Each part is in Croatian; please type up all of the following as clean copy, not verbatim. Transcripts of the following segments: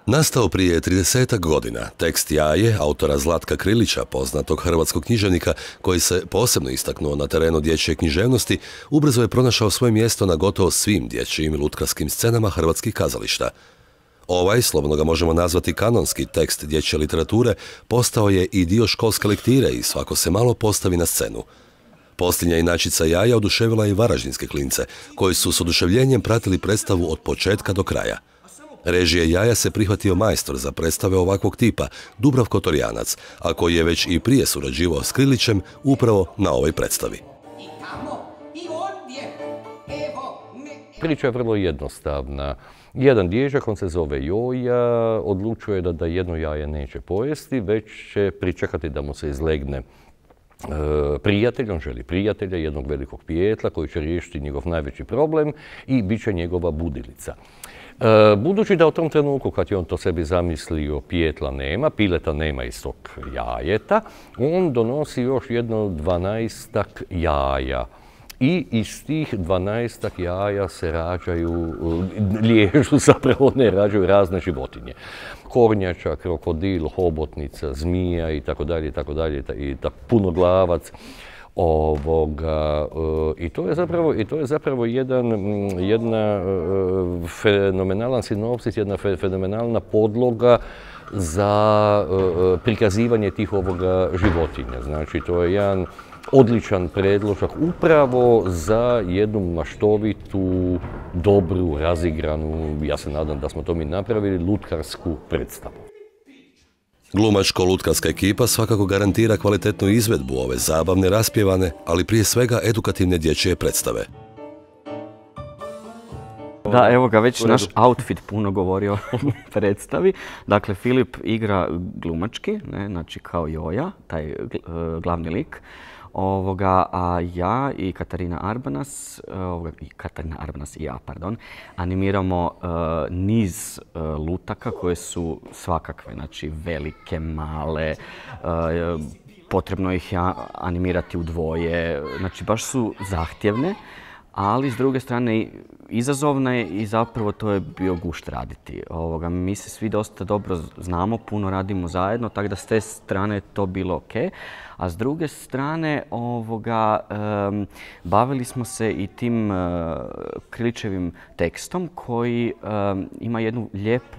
Nastao prije 30 godina, tekst Jaje, autora Zlatka Krilića, poznatog hrvatskog književnika koji se posebno istaknuo na terenu dječje književnosti, ubrzo je pronašao svoje mjesto na gotovo svim dječjim i lutkarskim scenama hrvatskih kazališta. Ovaj, slobodno ga možemo nazvati kanonski tekst dječje literature, postao je i dio školske lektire i svako se malo postavi na scenu. Posljednja inačica Jaja oduševila i varaždinske klince, koji su s oduševljenjem pratili predstavu od početka do kraja. Režije Jaja se prihvatio majstor za predstave ovakvog tipa, Dubravko Torjanac, a koji je već i prije surađivao s Krilićem upravo na ovoj predstavi. Priča je vrlo jednostavna. Jedan dječak, on se zove Joja, odlučuje da jedno jaje neće pojesti, već će pričekati da mu se izlegne prijatelj, on želi prijatelja, jednog velikog pijetla koji će riješiti njegov najveći problem i bit će njegova budilica. Budući da u tom trenutku kad je on to sebi zamislio pijetla nema, pileta nema iz tog jajeta, on donosi još jedno 12-ak jaja. I iz tih 12-ak jaja se rađaju razne životinje. Kornjača, krokodil, hobotnica, zmija i tako dalje, i punoglavac. I to je zapravo jedna fenomenalan sinopsis, jedna fenomenalna podloga za prikazivanje tih životinja. Znači, to je jedan odličan predložak upravo za jednu maštovitu, dobru, razigranu, ja se nadam da smo to mi napravili, lutkarsku predstavu. Glumačko-lutkarska ekipa svakako garantira kvalitetnu izvedbu ove zabavne, raspjevane, ali prije svega edukativne dječje predstave. Da, evo ga, već naš outfit puno govori o predstavi. Dakle, Filip igra glumački, znači kao Joja, taj glavni lik. A ja i Katarina Arbanas i ja, animiramo niz lutaka koje su svakakve, znači velike, male, potrebno ih je animirati u dvoje, znači baš su zahtjevne, ali s druge strane izazovna je i zapravo to je bio gušt raditi. Mi se svi dosta dobro znamo, puno radimo zajedno, tako da s te strane je to bilo ok. A s druge strane bavili smo se i tim Krilićevim tekstom koji ima jednu lijepu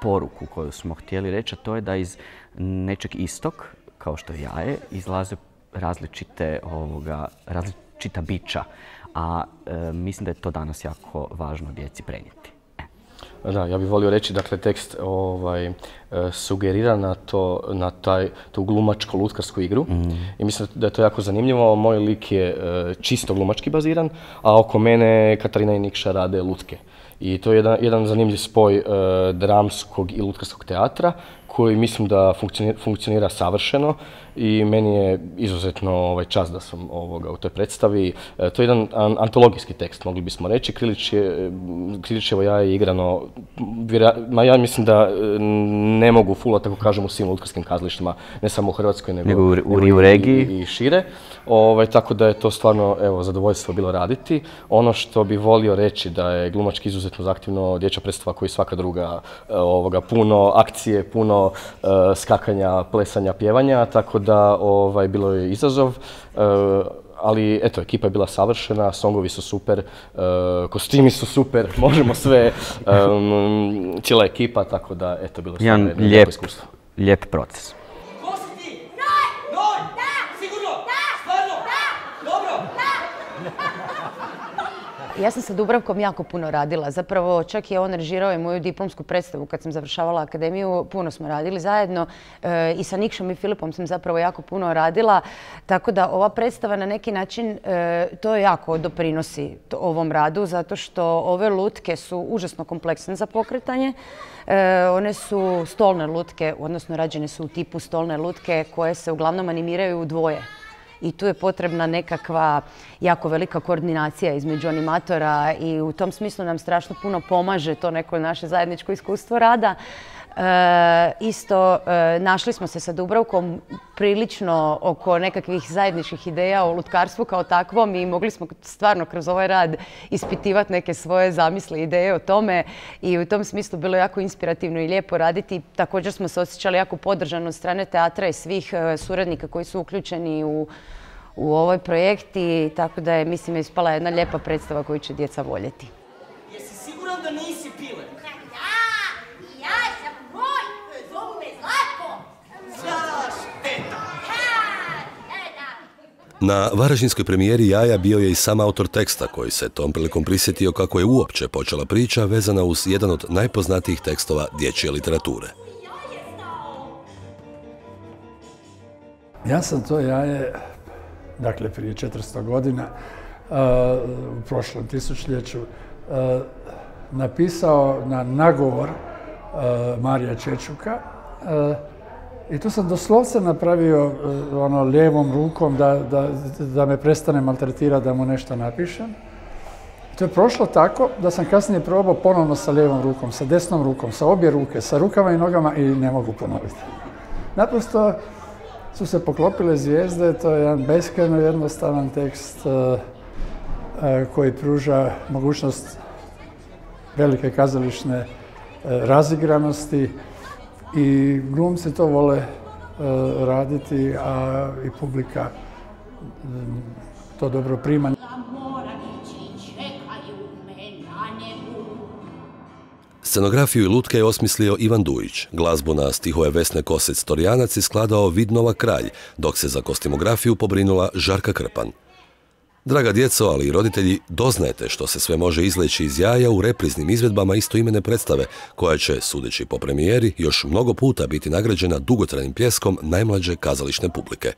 poruku koju smo htjeli reći, a to je da iz nečeg istog, kao što je jaje, izlaze različita bića. A mislim da je to danas jako važno djeci prenijeti. Da, ja bih volio reći, dakle, tekst sugerira na tu glumačko-lutkarsku igru i mislim da je to jako zanimljivo. Moj lik je čisto glumački baziran, a oko mene Katarina i Nikša rade lutke. I to je jedan zanimljiv spoj dramskog i lutkarskog teatra koji mislim da funkcionira savršeno i meni je izuzetno čast da sam u toj predstavi. To je jedan antologijski tekst, mogli bismo reći. Krilićevo jaje je igrano, ja mislim da ne mogu full, tako kažem, u svim lutkarskim kazalištima, ne samo u Hrvatskoj, nego u regiji i šire. Tako da je to stvarno zadovoljstvo bilo raditi. Ono što bi volio reći da je glumački izuzetno zahtjevno dječja predstava koji svaka druga, puno akcije, puno skakanja, plesanja, pjevanja, tako da bilo je izazov. Ali eto, ekipa je bila savršena, songovi su super, kostimi su super, možemo sve, cijela ekipa, tako da eto, bilo je stvarno jedno lijepo iskustvo. Lijep proces. Ja sam sa Dubravkom jako puno radila. Zapravo čak je on režirao i moju diplomsku predstavu kad sam završavala akademiju. Puno smo radili zajedno i sa Nikšom i Filipom sam zapravo jako puno radila. Tako da ova predstava na neki način to jako doprinosi ovom radu zato što ove lutke su užasno kompleksne za pokretanje. One su stolne lutke, odnosno rađene su u tipu stolne lutke koje se uglavnom animiraju u dvoje. I tu je potrebna nekakva jako velika koordinacija između animatora i u tom smislu nam strašno puno pomaže to neko naše zajedničko iskustvo rada. Isto našli smo se sa Dubravkom prilično oko nekakvih zajedničkih ideja o lutkarstvu kao takvom i mogli smo stvarno kroz ovaj rad ispitivati neke svoje zamisli i ideje o tome i u tom smislu bilo jako inspirativno i lijepo raditi. Također smo se osjećali jako podržano od strane teatra i svih suradnika koji su uključeni u ovaj projekt i tako da je, mislim, ispala jedna lijepa predstava koju će djeca voljeti. Jesi siguran da nisi Pile? Ja sam moj, zovu me Zlatko. Zašteta. Na varaždinskoj premijeri Jaja bio je i sam autor teksta koji se tom prilikom prisjetio kako je uopće počela priča vezana uz jedan od najpoznatijih tekstova dječje literature. Ja sam to jaje, dakle prije 400 godina, u prošlom tisućljeću, napisao na nagovor Marija Čečuka i tu sam doslovce napravio lijevom rukom da me prestane maltretirati da mu nešto napišem. To je prošlo tako da sam kasnije probao ponovno sa lijevom rukom, sa desnom rukom, sa obje ruke, sa rukama i nogama i ne mogu ponoviti. Naprosto su se poklopile zvijezde, to je jedan beskrajno jednostavan tekst koji pruža mogućnost velike kazališne razigranosti i glumci to vole raditi, a i publika to dobro prima. Scenografiju i lutke je osmislio Ivan Dujić, glazbu na stihove Vesne Kosec-Torjanac je skladao Vidnova Kralj, dok se za kostimografiju pobrinula Žarka Krpan. Draga djeco, ali i roditelji, doznajte što se sve može izleći iz jaja u repriznim izvedbama istoimene predstave, koja će, sudeći po premijeri, još mnogo puta biti nagrađena dugotrajnim pljeskom najmlađe kazališne publike.